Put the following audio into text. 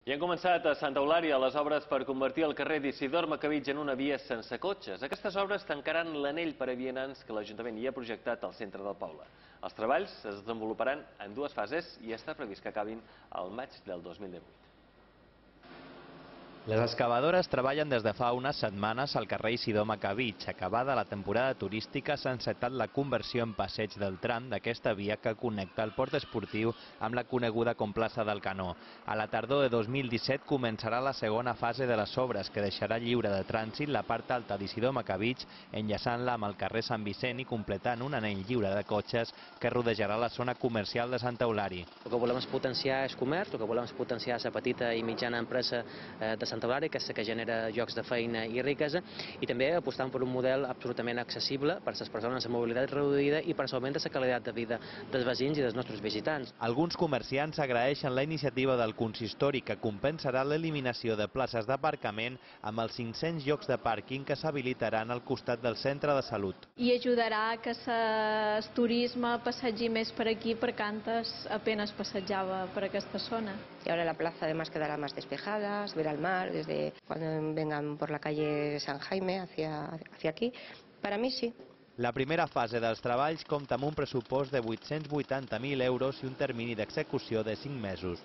I han començat a Santa Eulària les obres per convertir el carrer d'Isidor Macabitx en una via sense cotxes. Aquestes obres tancaran l'anell per a vianants que l'Ajuntament hi ha projectat al centre del poble. Els treballs es desenvoluparan en dues fases i està previst que acabin al maig del 2018. Les excavadores treballen des de fa unes setmanes al carrer Isidor Macabitx. Acabada la temporada turística, s'ha encetat la conversió en passeig del tram d'aquesta via que connecta el port esportiu amb la coneguda com plaça del Canó. A la tardor de 2017 començarà la segona fase de les obres, que deixarà lliure de trànsit la part alta d'Isidor Macabitx, enllaçant-la amb el carrer Sant Vicent i completant un anell lliure de cotxes que rodejarà la zona comercial de Santa Eulària. El que volem és potenciar el comerç, el que volem és potenciar la petita i mitjana empresa de Santa Eulària, aquesta que genera llocs de feina i riquesa, i també apostant per un model absolutament accessible per a les persones amb mobilitat reduïda i per augmentar la qualitat de vida dels veïns i dels nostres visitants. Alguns comerciants agraeixen la iniciativa del consistori, que compensarà l'eliminació de places d'aparcament amb els 500 llocs de pàrquing que s'habilitaran al costat del centre de salut. I ajudarà que el turisme passegi més per aquí, perquè antes apenas passejava per aquesta zona. Y ahora la plaza además quedará más despejada, se verá el mar desde cuando vengan por la calle San Jaime hacia aquí. Para mí sí. La primera fase dels treballs compta amb un pressupost de 880.000 euros i un termini d'execució de 5 mesos.